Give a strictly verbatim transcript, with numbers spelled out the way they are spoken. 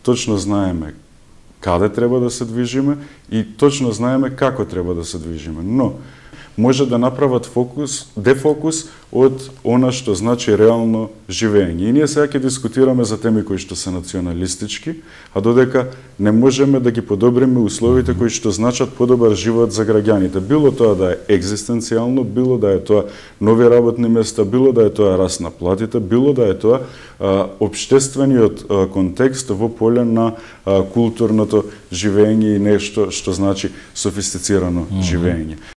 точно знаеме каде треба да се движиме и точно знаеме како треба да се движиме. Но може да направат фокус, дефокус од она што значи реално живење. И ние сега ќе дискутираме за теми кои што се националистички, а додека не можеме да ги подобриме условите кои што значат подобар живот за граѓаните. Било тоа да е екзистенцијално, било да е тоа нови работни места, било да е тоа раст на платите, било да е тоа а, општествениот а, контекст во поле на а, културното живење и нешто што значи софистицирано mm-hmm. живење.